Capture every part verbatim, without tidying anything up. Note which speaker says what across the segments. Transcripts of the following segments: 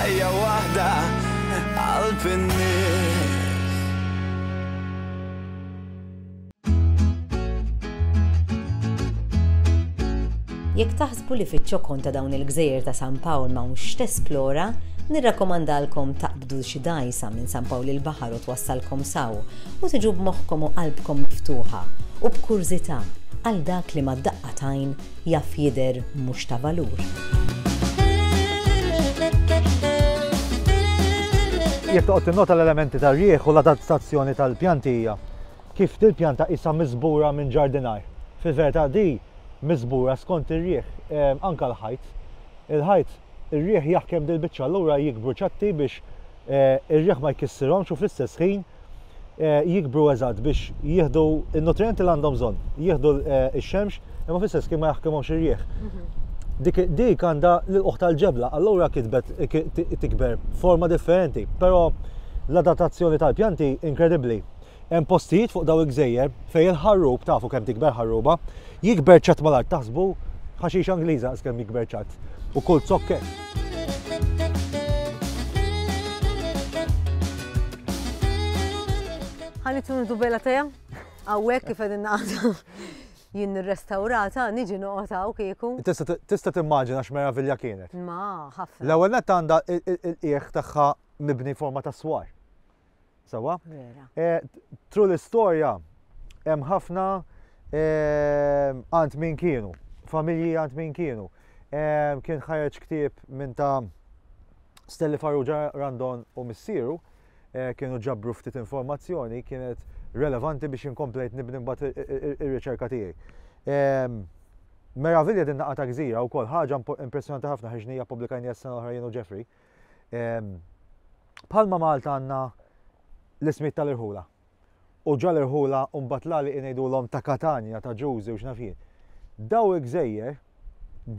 Speaker 1: Ħajja waħda qalb in-nies.
Speaker 2: Jekk taħsbu li fiċ-ċokon ta' dawn il-gżejjer ta' San Pawl m'hawnx tesplora, nirrakkomandalkom taqbdu xi dgħajsa minn San Pawl il-Baħar u twassalkom s'hawn u tiġu b'moħħkom u qalbkom miftuħa u b'kurżità għal dak li mad-daqqa t'għajn jaf jidher mhux ta' valur.
Speaker 3: Jekk toqgħod tinnota l-elementi tar-riħ u l-adattazzjoni tal-pjanti hija kif dil-pjanta qisha miżbura minn ġardinar. Fil-verità di miżbura skont ir-riħ, eh, anka l-ħajt. Il-ħajt, ir-riħ jaħkem dil-biċċa allura jikbru ċatti biex eh, ir-riħ ma jkissirhomx u fl-istess ħin eh, jikbru eżatt biex jieħdu il-nutrienti li għandhom bżonn, jieħdu ix-xemx imma fl-istess ħin ma jaħkimhomx ir-riħ. Dik, dik għandha l-uħ tal-ġebla, allura kitbet tikber forma differenti, però l-adattazzjoni tal-pjanti inkredibbli. Hemm postijiet fuq daw il-gżejjer fejn il-ħarrub, tafu kemm tikber ħarruba, jikber ċatt mal-art, taħsbu ħaxix Angliża kemm jikber ċatt. U kull zokke.
Speaker 2: Ħa nitunu bella teja, hawnhekk kif qegħdin naqgħdu jien nirrestawrata, niġi noqgħod hawn kieku.
Speaker 3: Tista' tista' timmaġina x'meravilja kienet.
Speaker 2: Ma, ħafna.
Speaker 3: L-ewwel nett għandha il-qiegħ tagħha mibni forma ta' swar. Sewwa?
Speaker 2: Vera.
Speaker 3: Eh, Through l-istorja hemm ħafna eh, għand min kienu, familji għand min kienu. Eh, Kien ħareġ ktieb minn ta' Stelli Farrugia Randon u missieru, eh, kienu ġabru ftit informazzjoni kienet relevanti biex inkomplejt nibni mbagħad ir-riċerka tiegħi. Em, Meravilja din naqa ta' gżira wkoll ħaġa impo- impressjonanti ħafna ħriġnija pubblikajnija s-sena l-oħra jien u Jeffrey. Em, Bħalma Malta għandna l-ismijiet tal-irħula. U ġa l-irħula u mbagħad l-għalieqi ngħidulhom ta' Katanja, ta' Ġużi u x'naf jien. Daw il-gżejjer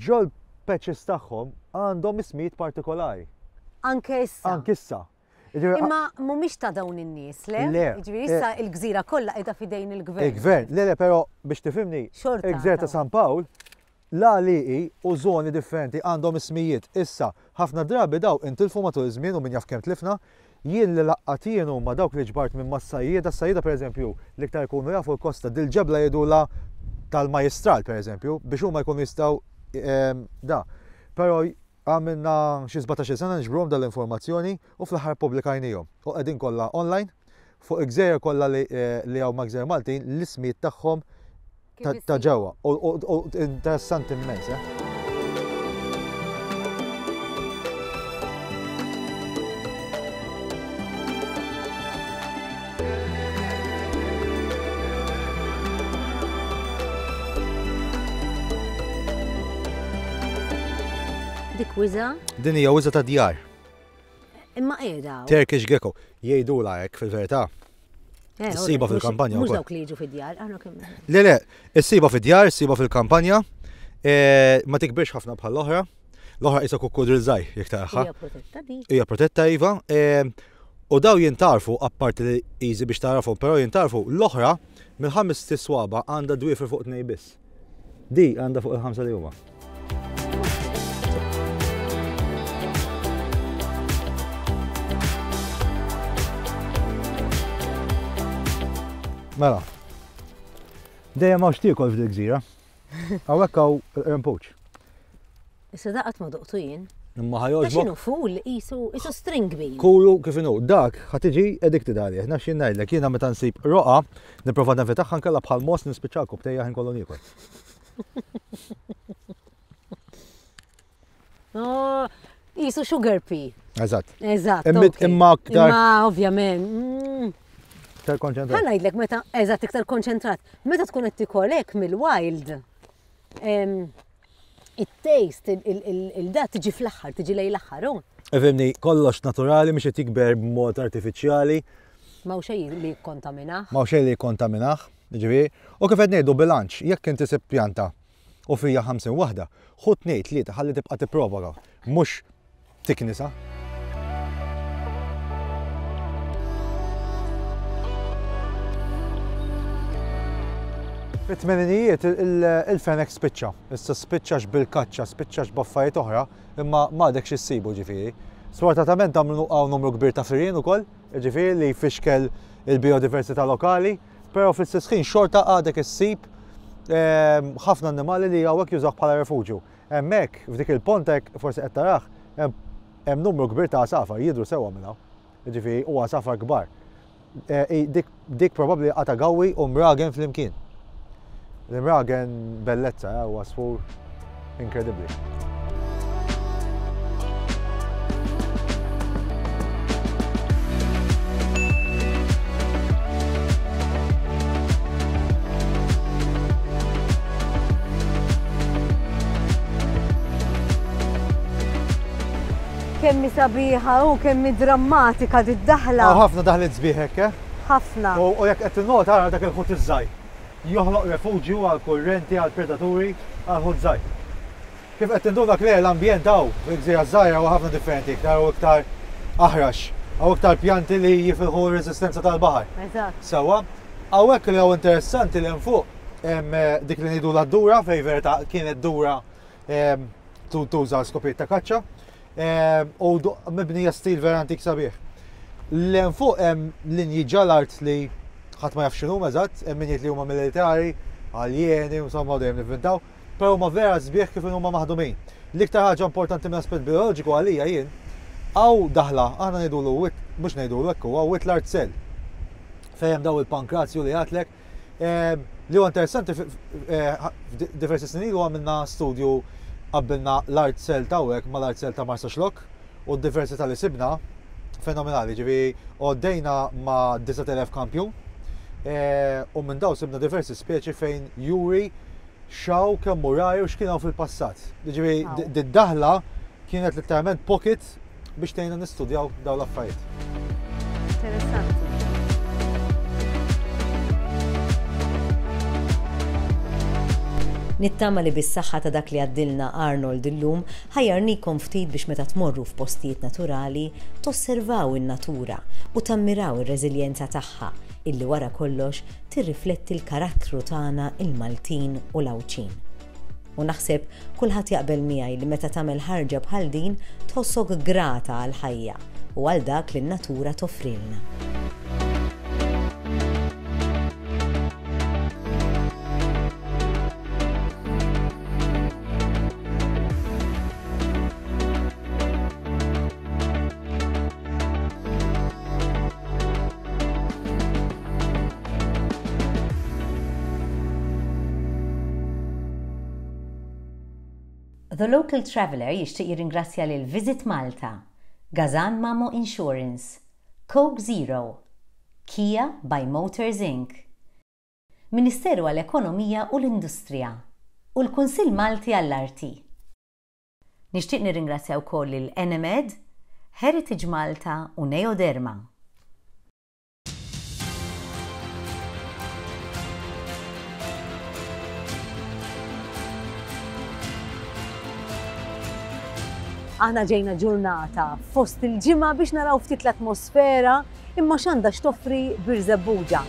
Speaker 3: ġol patches tagħhom għandhom ismijiet partikolari.
Speaker 2: Anke issa.
Speaker 3: Anke issa. Jiġifieri,
Speaker 2: Imma mhumiex ta' dawn in-nies, le?
Speaker 3: Le.
Speaker 2: Jiġifieri issa il-gżira kollha qiegħda f'idejn il-gvern.
Speaker 3: Il-gvern, le le, però biex tifhimni,
Speaker 2: Xorta
Speaker 3: il-gżejjer ta'
Speaker 2: ta'
Speaker 3: San Pawl, l-għalieqi u zoni differenti għandhom ismijiet. Issa, ħafna drabi daw intilfu matul iż-żmien u min jaf kemm tlifna, jien li laqqat jien huma dawk li ġbart minn mas-sajjieda, s-sajjieda pereżempju l-iktar jkunu jafu l-kosta dil-ġebla jgħidula tal-majestral pereżempju, biex huma jkunu jistgħu ehm, da. Però għamilna xi sbatax-il sena niġbruhom dal-informazzjoni u fl-aħħar pubblikajnihom. U qegħdin kollha online fuq il-gżejjer kollha li eh, li hawn ma' gżejjer Maltin l-ismijiet tagħhom ta' ta' ġewwa. U u- u interessanti immens, eh?
Speaker 2: Dik wiża,
Speaker 3: Din hija wiża ta' djar,
Speaker 2: imma qiegħda. hawn.
Speaker 3: Turkish gecko. Jgħidula hekk fil-verità.
Speaker 2: Eh,
Speaker 3: Issiba
Speaker 2: ora, mhux-
Speaker 3: fil-kampanja
Speaker 2: Mhux
Speaker 3: wkoll.
Speaker 2: dawk li jiġu fid-djar, aħna kemm.
Speaker 3: Le le, issiba fid-djar, issiba fil-kampanja, eh, ma tikbirx ħafna bħal l-oħra. L-oħra isa kukkudril żgħir jekk taraha.
Speaker 2: Hija protetta di.
Speaker 3: Hija protetta iva. eh, U daw jintarfu, apparti li easy biex tarafhom, però jintarfu l-oħra mill-ħames tiswaba għandha dwiefer fuq tnej biss. Di għandha fuq il-ħamsa li huma. Mela. Dejjem hawn x'tiekol f'dil gżira. Hawnhekk hawn il-qrempuċ.
Speaker 2: Issa daqat ma doqtu jien.
Speaker 3: Imma
Speaker 2: Ta'
Speaker 3: ħa jogħġbok.
Speaker 2: x'inhu ful qisu qisu string bean.
Speaker 3: Kulu kif inhu, dak ħa tiġi addicted għalih, naf x'jien ngħidlek, jiena meta nsib roqa, nipprova nevitaħħa nkella bħal mos nispiċċa btejja ħin kollu niekol.
Speaker 2: Oh, qisu sugar pea.
Speaker 3: Eżatt.
Speaker 2: Eżatt.
Speaker 3: Imma-
Speaker 2: okej.
Speaker 3: imma aktar-
Speaker 2: Imma ovvjament. mm.
Speaker 3: Iktar konċentrat.
Speaker 2: Ħa ngħidlek meta eżatt iktar konċentrat. Meta tkun qed tikol hekk mill-wild. em, It-taste, il-da tiġi fl-aħħar, tiġi lejn l-aħħar, oh.
Speaker 3: Ifhimni, kollox naturali mhux qed jikber b'mod artifiċjali,
Speaker 2: Ma xejn li jikkontaminah.
Speaker 3: ma xejn li jikkontaminah, jiġifieri. U kif qed ngħidu bilanċ, jekk inti sib pjanta u fija ħamsin waħda, ħu tnejn tlieta ħalli tibqa' tipprovoka, mhux tiknisa. Fit-tmeninijiet il-fenek spiċċa. Issa spiċċax bil-kaċċa, spiċċax b'affarijiet oħra, imma m'għadekx issibu ġifieri. Sfortunatament hawn numru kbir ta' firien ukoll, jiġifieri li jfixkel il-biodiversità lokali, però fl-istess ħin xorta għadek issib ħafna annimali li hawnhekk jużaw bħala refuġju. Hemmhekk f'dik il-pontek forsi qed tarah hemm numru kbir ta' għasafar jidhru sewwa minn hawn. Jiġifieri u għasafar kbar. Dik, dik probabbli qata gawwi u mragen flimkien. L-imragen bellezza, u għasfur inkredibbli.
Speaker 4: Kemm hi sabiħa u kemm hi drammatika did-daħla.
Speaker 3: Hawn ħafna daħliet sbieħ hekk, eh?
Speaker 4: Ħafna.
Speaker 3: U jekk qed tinnota ara dak il-ħut iż-żgħir. Joħloq refuġju għal kurrenti, għal predaturi, għal ħut żgħir. Kif qed tinduna Claire, l-ambjent hawn fil-Gżira Żgħira huwa ħafna differenti, iktar u iktar aħrax, hawn iktar pjanti li jifilħu r-reżistenza tal-baħar.
Speaker 4: Eżatt.
Speaker 3: Sewwa, hawnhekk li hawn interessanti li hemm fuq hemm dik li ngħidu l-dura fej verità kienet dura tuża skopijiet ta' kaċċa. U mibnija stil vera antik sabiħ. L-hemm fuq hemm linji ġal-art li ħadd ma jaf x'inhuma eżatt, hemm min jgħid li huma militari, aljeni, insomma dejjem nivvintaw, però huma vera sbieħ kif huma maħdumin. L-iktar ħaġa importanti minn aspett bioloġiku għalija jien, hawn daħla, aħna ngħidulu wit, mhux ngħidulu hekk huwa wit l-art sel. Fejn hemm daw il-pankrazju li għatlek, li huwa interessanti diversi snin ilu għamilna studju qabbilna l-art sel ta' hawnhekk ma l-art sel ta' Marsaxlokk u d-diversità li sibna fenomenali, ġifieri għoddejna ma' disat elef kampjun u minn daw sibna diversi speċi fejn juri xaw kemm muraj u x'kien hawn fil-passat. Ġifieri d-daħla kienet letteralment pocket biex tgħinna nistudjaw dawn l-affarijiet.
Speaker 4: Interessanti.
Speaker 2: Nittama li bis-saħħa ta' dak li għaddilna Arnold illum ħajjarnikom ftit biex meta tmorru f'postijiet naturali tosservaw in-natura u tammiraw ir-reżiljenza tagħha illi wara kollox tirrifletti l-karattru tagħna il-Maltin u l-Għawdxin. U naħseb kulħadd jaqbel miegħi li meta tagħmel ħarġa bħal din tħossok grata għall-ħajja u għal dak li n-natura toffrilna. The Local Traveller jixtieq jirringrazzja lil Visit Malta, Gazan Mamo Insurance, Coke Zero, Kia by Motors Incorporated, Ministeru għall-Ekonomija u l-Industrija u l-Kunsill Malti għall-Arti. Nixtieq nirringrazzja wkoll lil Enemed, Heritage Malta u Neoderma.
Speaker 4: Aħna ġejna ġurnata fost il-ġimgħa biex naraw ftit l-atmosfera imma x'għandha x'toffri Birżebbuġa.